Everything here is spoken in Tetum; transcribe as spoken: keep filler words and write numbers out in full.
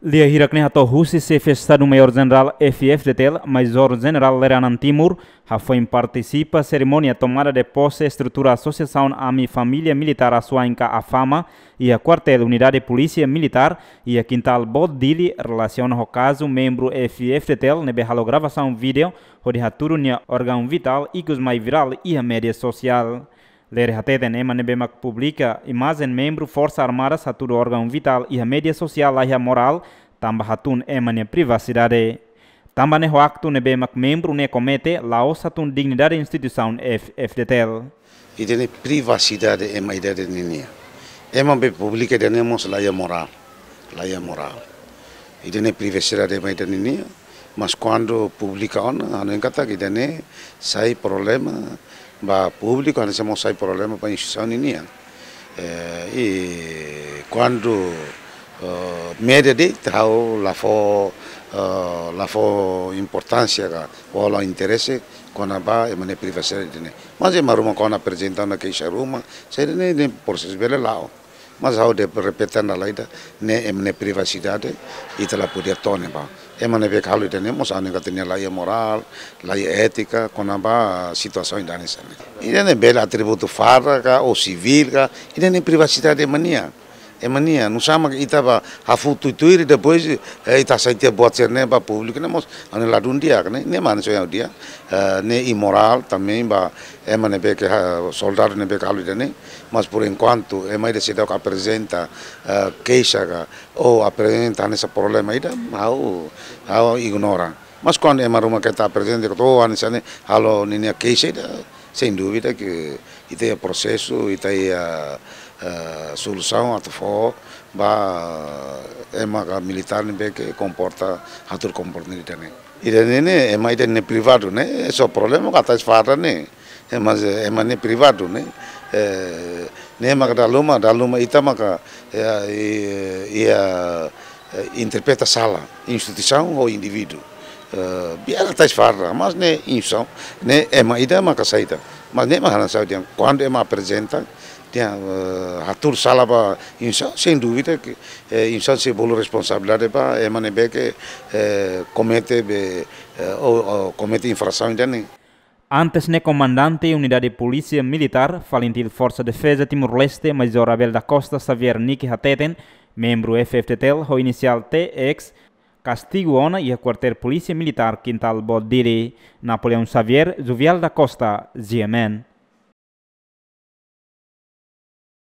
Lia hirak ne'e hato'o husi Xefe Estadu Maiór Jenerál F-FDTL, Majór Jenerál Lere Anan Timur, hafoin partisipa serimónia tomada de posse estrutura Asosiasaun Ami Família Militár Asuain ka AFAMA, iha Kuartél Unidade Polísia Militár, iha Kintal Boot Dili, relasiona ho kazu membru F-FDTL ne'ebé halo gravasaun vídeo hodi hatudu nia órgaun vitál ikus mai virál iha média sosiál. Lere hateten ema ne'ebé mak publika imajen membru Forsa Armadas hatudu órgaun vitál iha média sosiál laiha morál, tanba hatún ema nia privasidade. Tanba ne'e ho aktu ne'ebé mak membru ne'e komete, la'ós hatún dignidade instituisaun F-FDTL. Ida-ne'e privasidade ema ida-ne'e nian. Ema be publika ida-ne'e mós laiha morál, laiha morál. Ida-ne'e privasidade ema ida-ne'e nian, mas kuandu publika ona, hanoin katak ida-ne'e sai problema ba públiku, hanesan mós sai problema ba instituisaun ninian. Eh, i kuandu, eh, média de'it, ha'u la fó, eh, la fó importánsia ka, ou la interese kona-ba ema nia privasidade ida-ne'e. Mas ema ruma kuandu aprezenta ona keixa ruma, saida ne'e, ne'e prosesu bele la'o. Mas ha'u de'it repete ona lai ida, ne'e ema nia privasidade, ita la podia tone ba. Ema ne'ebé halo ida-ne'e mós hanoin katak nia laiha morál, laiha étika, kona-ba situasaun ida hanesan ne'e. Ida-ne'e bele atributu farda ka, ou sivíl ka, ida-ne'e privasidade ema nian. Ema nian, nusá mak ita bá hafutu tuir, depois, eh, ita hasai tiha buat sira-ne'e ba públiku ne'e mós, hanoin ladún di'ak ne'e, ne'e mak hanoin di'ak, eh, ne'e imorál também ba ema ne'ebé ke ha-, soldadu ne'ebé ke halo ida-ne'e, mas por enkuantu, ema ida seidauk aprezenta, eh, keixa ka, ou aprezenta hanesan problema ida, ha'u, ha'u ignora. Mas kuandu ema ruma keta aprezenta, ou hanesan ne'e, halo ninia keixa ida, sem dúvida ke ita iha prosesu, ita iha, eh, solusaun atu fó ba ema ka militár ne'ebé ke komporta, hatudu komporta ida-ne'e. Ida-ne'e ne'e, ema ida-ne'e privadu ne'e, só problema ka tais farda ne'e. Ema, ema ne'e privadu ne'e. Eh, ne'e maka dala ruma, dala ruma ita maka, eh, i-, iha, eh, interpreta sala, instituisaun ou indivíduu. Eh, biasa tais farda, mas ne'e instituisaun, ne'e ema ida maka saida. Mas ne'e mak ha'u hanoin dehan, kuandu ema aprezenta, dehan, eh, hatudu sala ba instituisaun, sem dúvida ke, eh, instituisaun sei bolu responsabilidade ba ema ne'ebé ke, eh, komete be, eh, ou, ou komete infrasaun ida-ne'e. Antes ne'e Komandante Unidade Polísia Militár, FALINTIL Forsa Defeza Timor-Leste, Majór Abel da Costa Xavier Niki hateten, membru F-FDTL ho inisiál T X, kastigu ona iha Kuartél Polísia Militár Kintal Boot Dili. Napoleão Xavier, Juvial da Costa, G M N.